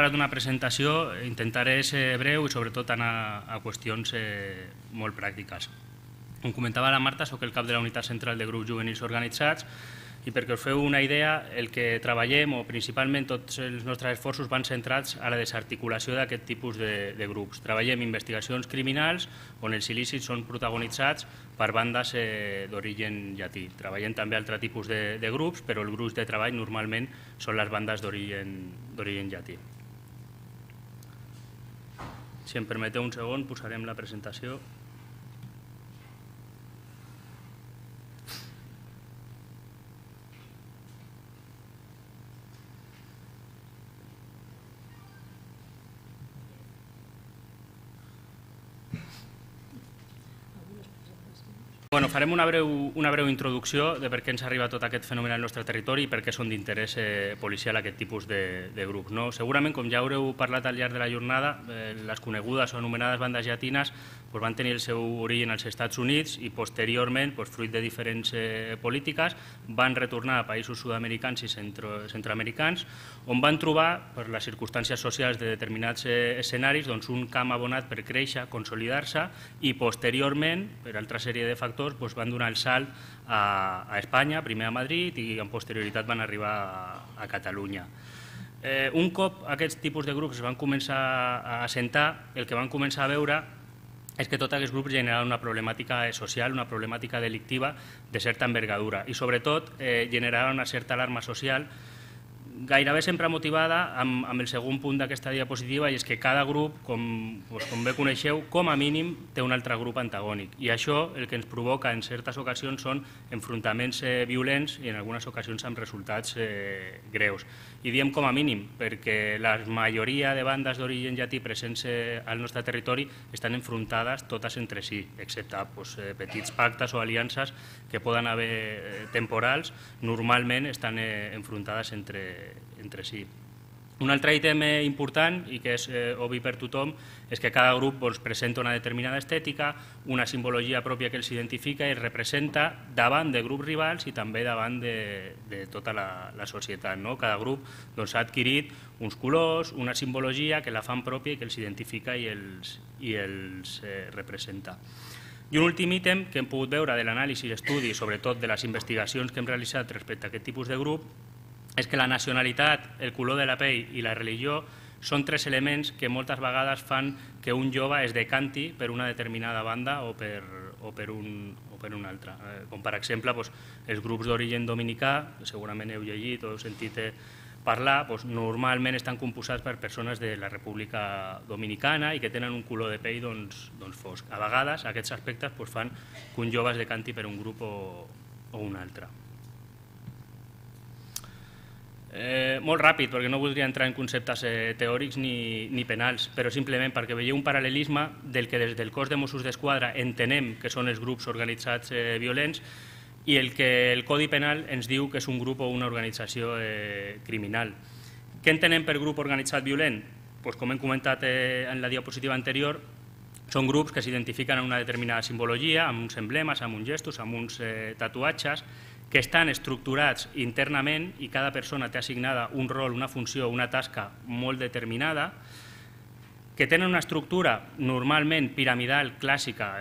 preparat una presentació, intentaré ser breu i sobretot anar a qüestions molt pràctiques. Com comentava la Marta, soc el cap de la unitat central de grups juvenils organitzats i perquè us feu una idea, el que treballem, o principalment tots els nostres esforços van centrats a la desarticulació d'aquest tipus de grups. Treballem investigacions criminals on els il·lícits són protagonitzats per bandes d'origen llatí. Treballem també altre tipus de grups, però el gruix de treball normalment són les bandes d'origen llatí. Si em permeteu un segon, posarem la presentació. Farem una breu introducció de per què ens arriba tot aquest fenomen al nostre territori i per què són d'interès policial aquest tipus de grups. Segurament, com ja haureu parlat al llarg de la jornada, les conegudes o anomenades bandes llatines van tenir el seu origen als Estats Units i posteriorment, fruit de diferents polítiques, van retornar a països sud-americans i centroamericans, on van trobar, per les circumstàncies socials de determinats escenaris, un camp abonat per créixer, consolidar-se i posteriorment, per altra sèrie de factors, van donar el salt a Espanya, primer a Madrid i amb posterioritat van arribar a Catalunya. Un cop aquests tipus de grups es van començar a assentar, el que van començar a veure és que tots aquests grups generaven una problemàtica social, una problemàtica delictiva de certa envergadura i sobretot generaven una certa alarma social gairebé sempre motivada amb el segon punt d'aquesta diapositiva, i és que cada grup, com bé coneixeu, com a mínim té un altre grup antagònic. I això el que ens provoca en certes ocasions són enfrontaments violents i en algunes ocasions amb resultats greus. I diem com a mínim perquè la majoria de bandes d'origen llatí presents al nostre territori estan enfrontades totes entre si, excepte petits pactes o aliances que poden haver temporals, normalment estan enfrontades entre si. Un altre ítem important i que és obvi per tothom és que cada grup presenta una determinada estètica, una simbologia pròpia que els identifica i representa davant de grups rivals i també davant de tota la societat. Cada grup ha adquirit uns colors, una simbologia que la fan pròpia i que els identifica i els representa. I un últim ítem que hem pogut veure de l'anàlisi i l'estudi, sobretot de les investigacions que hem realitzat respecte a aquest tipus de grup, és que la nacionalitat, el color de la pell i la religió són tres elements que moltes vegades fan que un jove es decanti per una determinada banda o per una altra. Com per exemple els grups d'origen dominicà, que segurament heu llegit o heu sentit parlar, normalment estan composats per persones de la República Dominicana i que tenen un color de pell fosc. A vegades aquests aspectes fan que un jove es decanti per un grup o un altre. Molt ràpid, perquè no voldria entrar en conceptes teòrics ni penals, però simplement perquè veieu un paral·lelisme del que des del cos de Mossos d'Esquadra entenem que són els grups organitzats violents i el que el Codi Penal ens diu que és un grup o una organització criminal. Què entenem per grup organitzat violent? Com hem comentat en la diapositiva anterior, són grups que s'identifiquen amb una determinada simbologia, amb uns emblemes, amb uns gestos, amb uns tatuatges, que estan estructurats internament i cada persona té assignada un rol, una funció, una tasca molt determinada, que tenen una estructura normalment piramidal clàssica,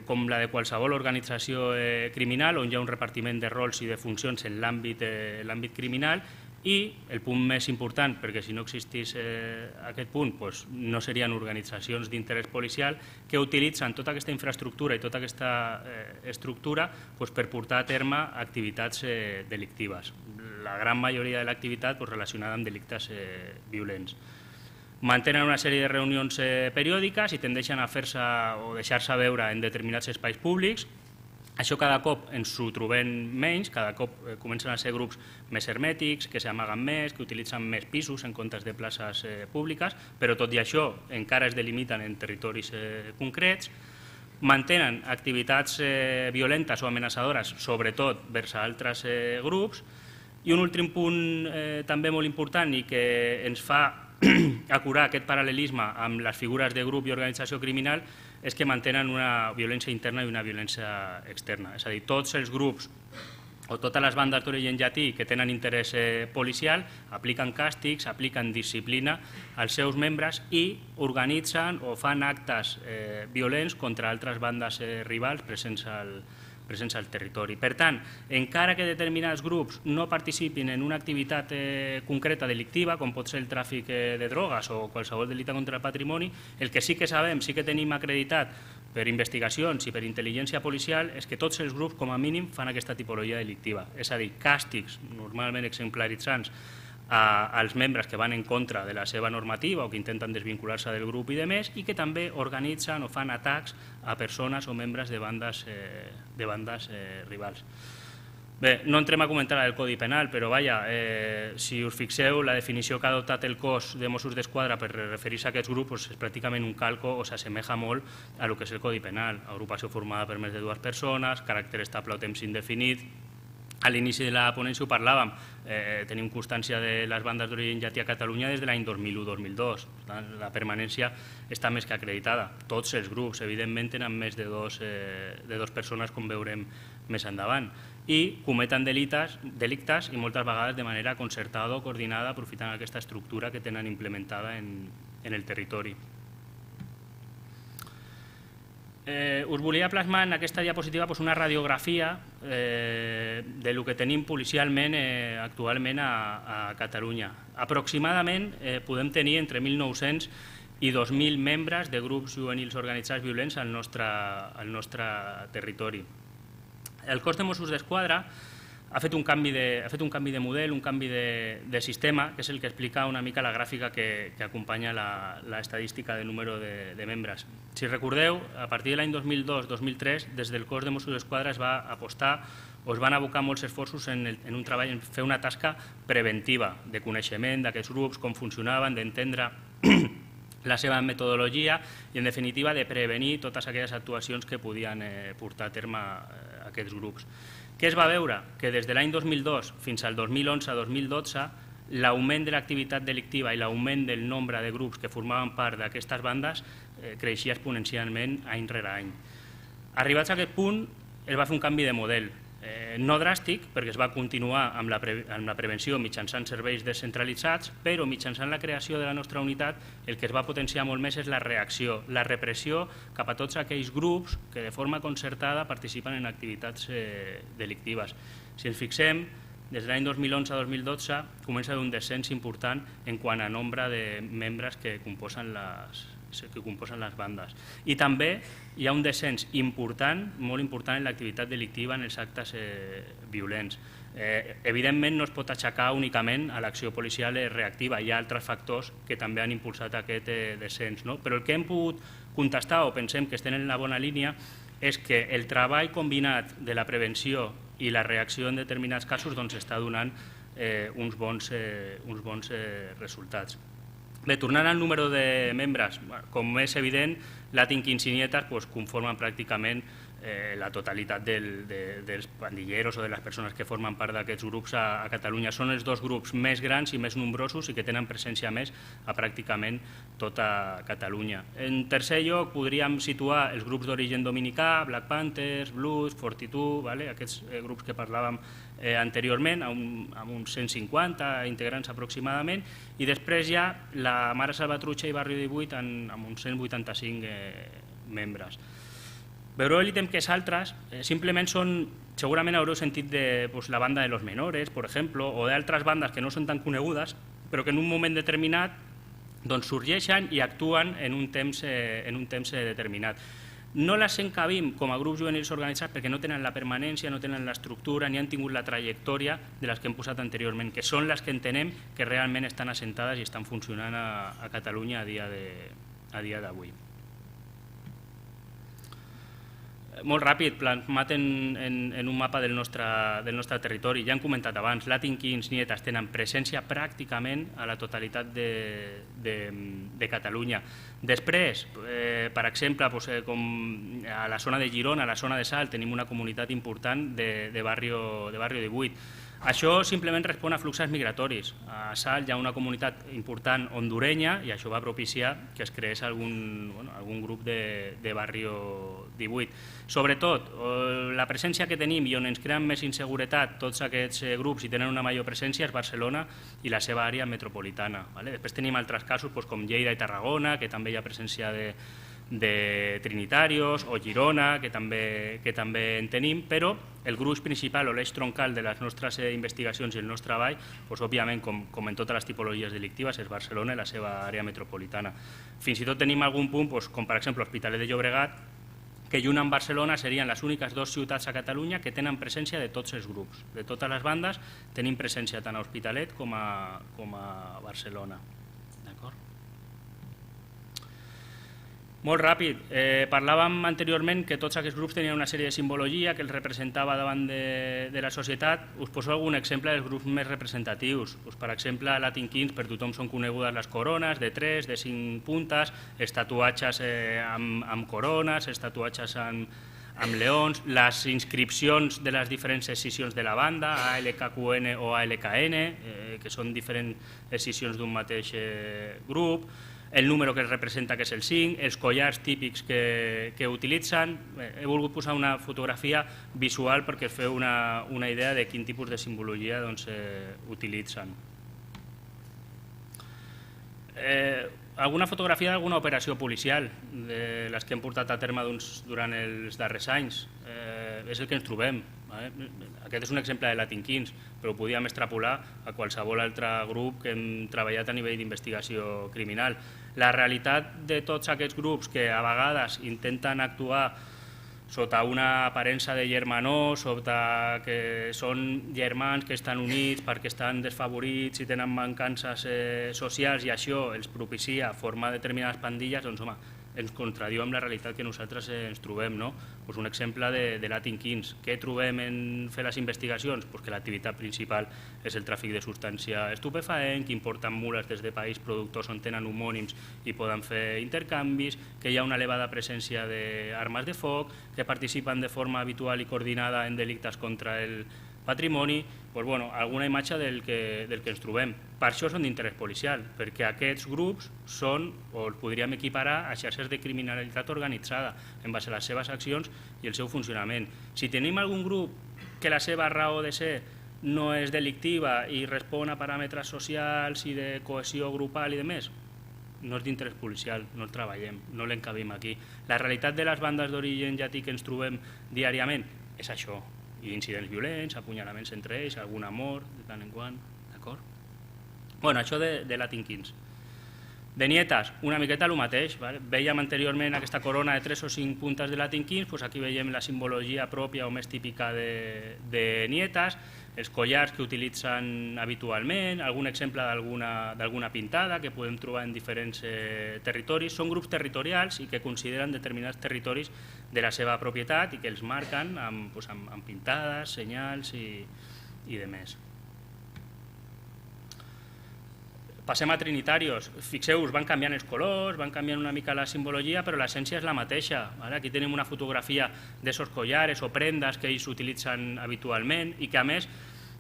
com la de qualsevol organització criminal, on hi ha un repartiment de rols i de funcions en l'àmbit criminal, i el punt més important, perquè si no existís aquest punt no serien organitzacions d'interès policial que utilitzen tota aquesta infraestructura i tota aquesta estructura per portar a terme activitats delictives. La gran majoria de l'activitat relacionada amb delictes violents. Mantenen una sèrie de reunions periòdiques i tendeixen a fer-se o deixar-se veure en determinats espais públics. Això cada cop ens ho trobem menys, cada cop comencen a ser grups més hermètics, que s'amaguen més, que utilitzen més pisos en comptes de places públiques, però tot i això encara es delimiten en territoris concrets, mantenen activitats violentes o amenaçadores, sobretot vers altres grups, i un últim punt també molt important i que ens fa acurar aquest paral·lelisme amb les figures de grup i organització criminal és que mantenen una violència interna i una violència externa. És a dir, tots els grups o totes les bandes d'origen llatí que tenen interès policial apliquen càstigs, apliquen disciplina als seus membres i organitzen o fan actes violents contra altres bandes rivals presents al territori. Per tant, encara que determinats grups no participin en una activitat concreta delictiva, com pot ser el tràfic de drogues o qualsevol delicte contra el patrimoni, el que sí que sabem, sí que tenim acreditat per investigacions i per intel·ligència policial és que tots els grups, com a mínim, fan aquesta tipologia delictiva. És a dir, càstigs normalment exemplaritzants als membres que van en contra de la seva normativa o que intenten desvincular-se del grup i de més, i que també organitzen o fan atacs a persones o membres de bandes rivals. Bé, no entrem a comentar el Codi Penal, però vaja, si us fixeu, la definició que ha adoptat el cos de Mossos d'Esquadra per referir-se a aquests grups és pràcticament un calco o s'assemeja molt a lo que és el Codi Penal. Agrupació formada per més de 2 persones, caràcter estable o temps indefinit. A l'inici de la ponència ho parlàvem, tenim constància de les bandes d'origen llatí a Catalunya des de l'any 2001-2002. La permanència està més que acreditada. Tots els grups, evidentment, tenen més de 2 persones, com veurem més endavant, i cometen delictes i moltes vegades de manera concertada o coordinada, aprofitant aquesta estructura que tenen implementada en el territori. Us volia plasmar en aquesta diapositiva una radiografia del que tenim policialment actualment a Catalunya. Aproximadament podem tenir entre 1.900 i 2.000 membres de grups juvenils organitzats violents al nostre territori. El cos de Mossos d'Esquadra ha fet un canvi de model, un canvi de sistema, que és el que explica una mica la gràfica que acompanya l'estadística del número de membres. Si recordeu, a partir de l'any 2002-2003, des del cos de Mossos d'Esquadra es va apostar o es van abocar molts esforços en un treball, en fer una tasca preventiva de coneixement d'aquests grups, com funcionaven, d'entendre la seva metodologia i, en definitiva, de prevenir totes aquelles actuacions que podien portar a terme aquests grups. Què es va veure? Que des de l'any 2002 fins al 2011-2012 l'augment de l'activitat delictiva i l'augment del nombre de grups que formaven part d'aquestes bandes creixia exponencialment any rere any. Arribats a aquest punt, es va fer un canvi de model. No dràstic, perquè es va continuar amb la prevenció mitjançant serveis descentralitzats, però mitjançant la creació de la nostra unitat el que es va potenciar molt més és la reacció, la repressió cap a tots aquells grups que de forma concertada participen en activitats delictives. Si ens fixem, des de l'any 2011-2012 comença a haver un descens important en quant a nombre de membres que composen les bandes. I també hi ha un descens important, molt important, en l'activitat delictiva, en els actes violents. Evidentment no es pot aixecar únicament a l'acció policial reactiva, hi ha altres factors que també han impulsat aquest descens. Però el que hem pogut contestar o pensem que estem en la bona línia és que el treball combinat de la prevenció i la reacció en determinats casos està donant uns bons resultats. Bé, tornant al número de membres, com és evident, Latin Kings i Nietas conformen pràcticament la totalitat dels pandilleros o de les persones que formen part d'aquests grups a Catalunya. Són els 2 grups més grans i més nombrosos i que tenen presència més a pràcticament tota Catalunya. En tercer lloc podríem situar els grups d'origen dominicà, Black Panthers, Blues, Fortitude, aquests grups que parlàvem anteriorment, amb uns 150 integrants aproximadament, i després ja la Mare Salvatrucha i Barri 18 amb uns 185 membres. Veureu l'ítem que és altres, simplement són, segurament haureu sentit de la banda de los menores, per exemple, o d'altres bandes que no són tan conegudes, però que en un moment determinat sorgeixen i actuen en un temps determinat. No les encabim com a grups juvenils organitzats perquè no tenen la permanència, no tenen l'estructura, ni han tingut la trajectòria de les que hem posat anteriorment, que són les que entenem que realment estan assentades i estan funcionant a Catalunya a dia d'avui. Molt ràpid, plasmat en un mapa del nostre territori. Ja hem comentat abans, Latin Kings i Nietas tenen presència pràcticament a la totalitat de Catalunya. Després, per exemple, com a la zona de Girona, a la zona de Salt, tenim una comunitat important de Barrio 18. Això simplement respon a fluxos migratoris. A Salt hi ha una comunitat important hondurenya i això va propiciar que es creés algun grup de Barrio 18. Sobretot, la presència que tenim i on ens creen més inseguretat tots aquests grups i tenen una major presència és Barcelona i la seva àrea metropolitana. Després tenim altres casos com Lleida i Tarragona, que també hi ha presència de trinitarios, o Girona, que també en tenim, però el gruix principal o l'eix troncal de les nostres investigacions i el nostre treball, òbviament, com en totes les tipologies delictives, és Barcelona i la seva àrea metropolitana. Fins i tot tenim algun punt, com per exemple l'Hospitalet de Llobregat, que junt amb Barcelona serien les úniques dues ciutats a Catalunya que tenen presència de tots els grups. De totes les bandes tenim presència tant a Hospitalet com a Barcelona. D'acord? Molt ràpid. Parlàvem anteriorment que tots aquests grups tenien una sèrie de simbologia que els representava davant de la societat. Us poso algun exemple dels grups més representatius. Per exemple, a Latin Kings per tothom són conegudes les corones de 3, de 5 puntes, els tatuatges amb corones, els tatuatges amb leons, les inscripcions de les diferents escissions de la banda, ALKQN o ALKN, que són diferents escissions d'un mateix grup, el número que es representa, que és el 5, els collars típics que utilitzen. He volgut posar una fotografia visual perquè es feu una idea de quin tipus de simbologia utilitzen. Alguna fotografia d'alguna operació policial, de les que hem portat a terme durant els darrers anys. És el que ens trobem. Aquest és un exemple de Latin Kings, però ho podíem extrapolar a qualsevol altre grup que hem treballat a nivell d'investigació criminal. La realitat de tots aquests grups que a vegades intenten actuar sota una aparença de germanor, sota que són germans que estan units perquè estan desfavorits i tenen mancances socials i això els propicia formar determinades pandilles, doncs home, ens contradiu amb la realitat que nosaltres ens trobem. Un exemple de Latin Kings. Què trobem en fer les investigacions? Que l'activitat principal és el tràfic de substància estupefaent, que importen mules des de països productors on tenen homònims i poden fer intercanvis, que hi ha una elevada presència d'armes de foc, que participen de forma habitual i coordinada en delictes contra el patrimoni, alguna imatge del que ens trobem. Per això són d'interès policial, perquè aquests grups són, o els podríem equiparar a xarxes de criminalitat organitzada en base a les seves accions i el seu funcionament. Si tenim algun grup que la seva raó de ser no és delictiva i respon a paràmetres socials i de cohesió grupal i de més, no és d'interès policial, no el treballem, no l'encabim aquí. La realitat de les bandes d'origen llatí que ens trobem diàriament és això, i incidents violents, apunyalaments entre ells, alguna mort de tant en quant, d'acord? Això de Latin Kings. De Nietas, una miqueta el mateix. Vèiem anteriorment aquesta corona de 3 o 5 puntes de Latin Kings, aquí veiem la simbologia pròpia o més típica de Nietas, els collars que utilitzen habitualment, algun exemple d'alguna pintada que podem trobar en diferents territoris. Són grups territorials i que consideren determinats territoris de la seva propietat i que els marquen amb pintades, senyals i de més. Passem a trinitarios. Fixeu-vos, van canviant els colors, van canviant una mica la simbologia, però l'essència és la mateixa. Aquí tenim una fotografia d'esos collares o prendes que ells utilitzen habitualment i que, a més,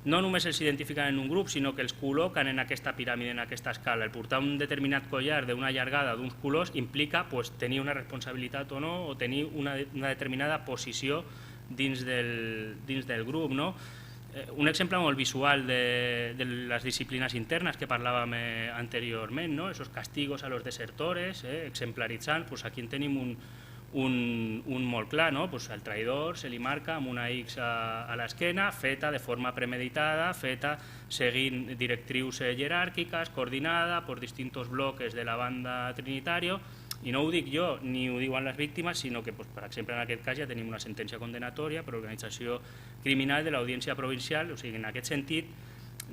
no només els identifiquen en un grup, sinó que els col·loquen en aquesta piràmide, en aquesta escala. El portar un determinat collar d'una llargada d'uns colors implica tenir una responsabilitat o no, o tenir una determinada posició dins del grup. Un exemple molt visual de les disciplines internes que parlàvem anteriorment, esos castigos a los desertores, exemplaritzant, aquí en tenim un molt clar, al traïdor se li marca amb una X a l'esquena, feta de forma premeditada, feta seguint directrius jeràrquiques, coordinada per distintos bloques de la banda trinitario. I no ho dic jo, ni ho diuen les víctimes, sinó que, per exemple, en aquest cas ja tenim una sentència condenatòria per organització criminal de l'Audiència Provincial. O sigui, en aquest sentit,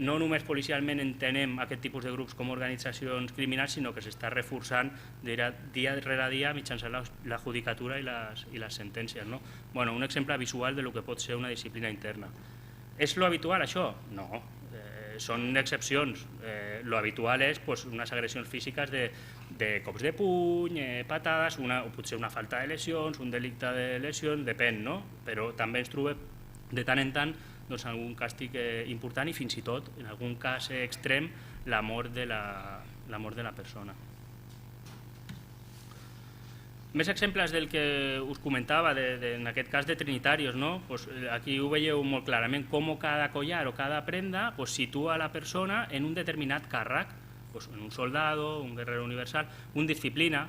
no només policialment entenem aquest tipus de grups com a organitzacions criminals, sinó que s'està reforçant dia rere dia mitjançant la judicatura i les sentències. Un exemple visual del que pot ser una disciplina interna. És lo habitual, això? No. Són excepcions. Lo habitual és unes agressions físiques de cops de puny, patades, o potser una falta de lesions, un delicte de lesions, depèn, però també ens trobem de tant en tant algun càstig important i fins i tot, en algun cas extrem, la mort de la persona. Més exemples del que us comentava, en aquest cas de trinitarios, no? Pues aquí ho veieu molt clarament, com cada collar o cada prenda pues, situa la persona en un determinat càrrec, pues, en un soldado, un guerrero universal, un disciplina.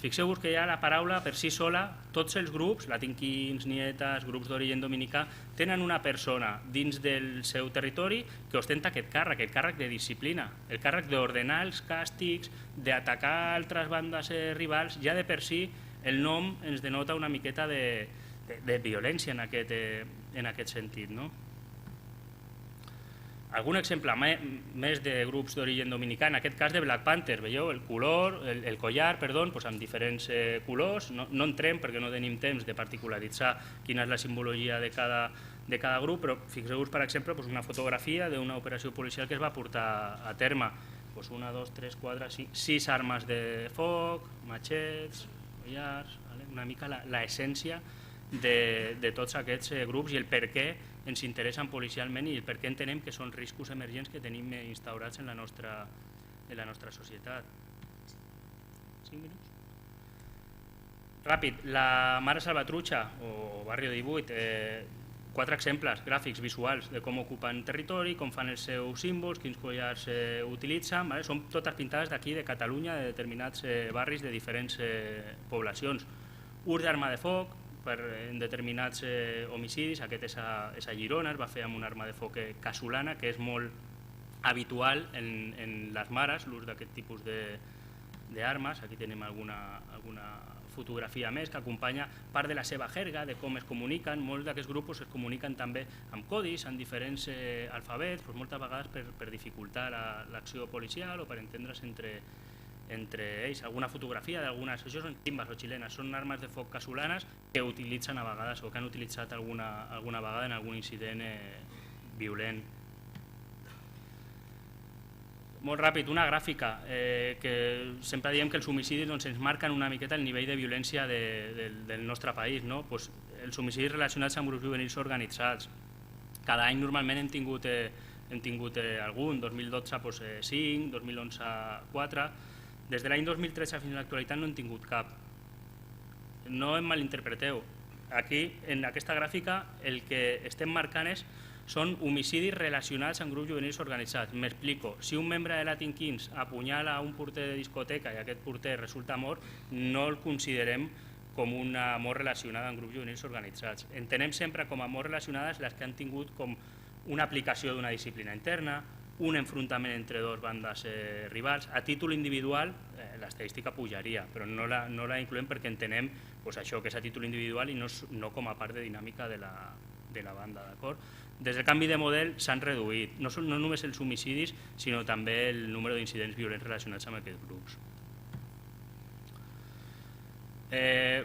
Fixeu-vos que ja la paraula per si sola, tots els grups, latinquins, nietes, grups d'origen dominicà, tenen una persona dins del seu territori que ostenta aquest càrrec de disciplina, el càrrec d'ordenar els càstigs, d'atacar altres bandes rivals. Ja de per si el nom ens denota una miqueta de violència en aquest sentit, no? Algun exemple més de grups d'origen dominicà, en aquest cas de Black Panther, veieu el collar, doncs, amb diferents colors. No entrem perquè no tenim temps de particularitzar quina és la simbologia de cada grup, però fixeu-vos, per exemple, una fotografia d'una operació policial que es va portar a terme. 1, 2, 3, 4, 5, 6 armes de foc, matxets, collars, una mica l'essència de tots aquests grups i el per què ens interessen policialment i el per què entenem que són riscos emergents que tenim instaurats en la nostra societat. 5 minuts? Ràpid, la Mare Salvatrucha o Barrio 18, 4 exemples gràfics, visuals de com ocupen territori, com fan els seus símbols, quins collars utilitzen. Són totes pintades d'aquí, de Catalunya, de determinats barris de diferents poblacions. Ús d'arma de foc en determinats homicidis, aquest és a Girona, es va fer amb una arma de foc casolana, que és molt habitual en les mares, l'ús d'aquest tipus d'armes. Aquí tenim alguna fotografia més que acompanya part de la seva jerga, de com es comuniquen. Molts d'aquests grups es comuniquen també amb codis, en diferents alfabets, moltes vegades per dificultar l'acció policial o per entendre's entre ells. Alguna fotografia d'algunes, això són timbas o xilenes, són armes de foc casolanes que utilitzen a vegades o que han utilitzat alguna vegada en algun incident violent. Molt ràpid, una gràfica, que sempre diem que els homicidis ens marquen una miqueta el nivell de violència del nostre país. Els homicidis relacionats amb grups juvenils organitzats. Cada any normalment hem tingut algun, 2012 5, 2011 4, des de l'any 2013 fins a l'actualitat no hem tingut cap. No em malinterpreteu. Aquí, en aquesta gràfica, el que estem marcant són homicidis relacionats amb grups juvenils organitzats. M'explico. Si un membre de Latin Kings apunyala un porter de discoteca i aquest porter resulta mort, no el considerem com una mort relacionada amb grups juvenils organitzats. Entenem sempre com a morts relacionades les que han tingut com una aplicació d'una disciplina interna, un enfrontament entre dues bandes rivals. A títol individual l'estadística pujaria, però no la incloem perquè entenem això que és a títol individual i no com a part de dinàmica de la banda. Des del canvi de model s'han reduït no només els homicidis, sinó també el número d'incidents violents relacionats amb aquests grups.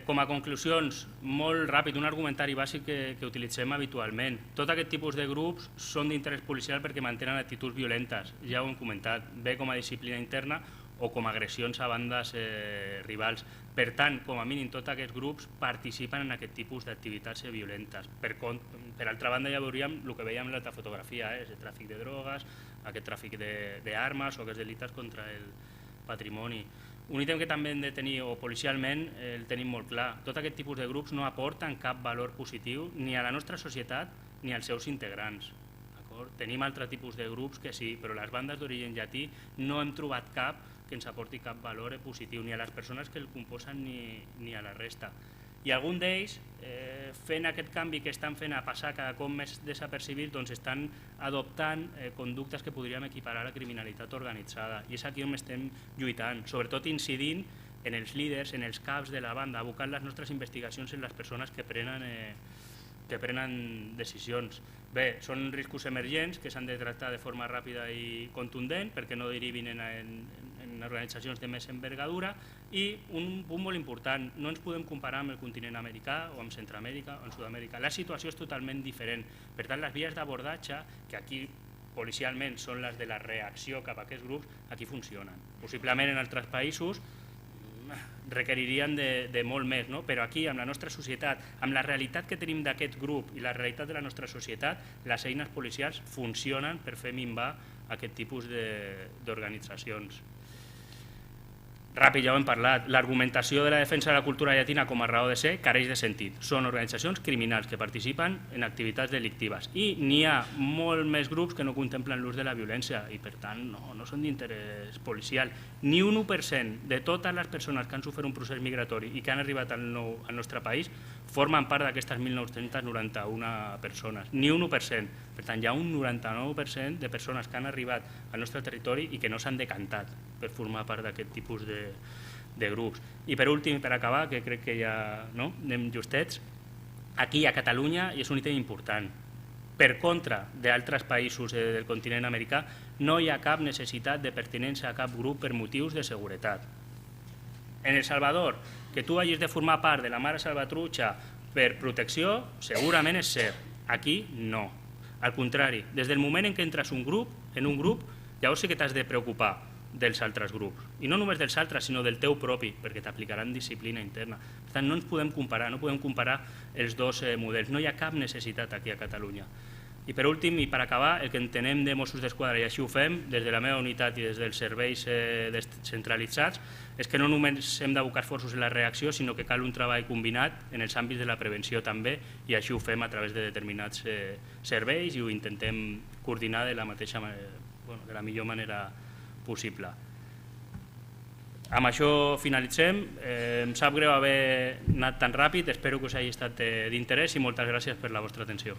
Com a conclusions, molt ràpid, un argumentari bàsic que utilitzem habitualment. Tot aquest tipus de grups són d'interès policial perquè mantenen actituds violentes, ja ho hem comentat, bé com a disciplina interna o com a agressions a bandes rivals. Per tant, com a mínim, tots aquests grups participen en aquest tipus d'activitats violentes. Per altra banda, ja veuríem el que veiem en l'altra fotografia, el tràfic de drogues, aquest tràfic d'armes o aquests delictes contra el patrimoni. Un ítem que també hem de tenir, o policialment, el tenim molt clar. Tot aquest tipus de grups no aporten cap valor positiu ni a la nostra societat ni als seus integrants. Tenim altre tipus de grups que sí, però les bandes d'origen llatí no hem trobat cap que ens aporti cap valor positiu ni a les persones que el composen ni a la resta. I algun d'ells, fent aquest canvi que estan fent a passar cada cop més desapercibits, doncs estan adoptant conductes que podríem equiparar a la criminalitat organitzada. I és aquí on estem lluitant, sobretot incidint en els líders, en els caps de la banda, abocant les nostres investigacions en les persones que prenen decisions. Bé, són riscos emergents que s'han de tractar de forma ràpida i contundent perquè no derivin en organitzacions de més envergadura i un punt molt important, no ens podem comparar amb el continent americà o amb Centroamèrica o amb Sud-amèrica. La situació és totalment diferent. Per tant, les vies d'abordatge, que aquí policialment són les de la reacció cap a aquests grups, aquí funcionen. Possiblement en altres països requeririen de molt més, però aquí, amb la nostra societat, amb la realitat que tenim d'aquest grup i la realitat de la nostra societat, les eines policials funcionen per fer minvar aquest tipus d'organitzacions. Ràpid, ja ho hem parlat. L'argumentació de la defensa de la cultura llatina com a raó de ser careix de sentit. Són organitzacions criminals que participen en activitats delictives i n'hi ha molt més grups que no contemplen l'ús de la violència i, per tant, no són d'interès policial. Ni un 1% de totes les persones que han sofert un procés migratori i que han arribat al nostre país formen part d'aquestes 1.991 persones. Ni un 1%. Per tant, hi ha un 99% de persones que han arribat al nostre territori i que no s'han decantat per formar part d'aquest tipus de grups. I per últim, per acabar, que crec que ja anem justets, aquí a Catalunya, i és un ítem important, per contra d'altres països del continent americà, no hi ha cap necessitat de pertinença a cap grup per motius de seguretat. En El Salvador, que tu hagis de formar part de la Mare Salvatrucha per protecció, segurament és cert. Aquí no. Al contrari, des del moment en què entres en un grup, llavors sí que t'has de preocupar dels altres grups. I no només dels altres, sinó del teu propi, perquè t'aplicaran disciplina interna. Per tant, no ens podem comparar, no podem comparar els dos models. No hi ha cap necessitat aquí a Catalunya. I per últim, i per acabar, el que entenem de Mossos d'Esquadra, i així ho fem, des de la meva unitat i des dels serveis descentralitzats, és que no només hem d'abocar esforços en la reacció, sinó que cal un treball combinat en els àmbits de la prevenció també, i així ho fem a través de determinats serveis i ho intentem coordinar de la millor manera possible. Amb això finalitzem. Em sap greu haver anat tan ràpid, espero que us hagi estat d'interès i moltes gràcies per la vostra atenció.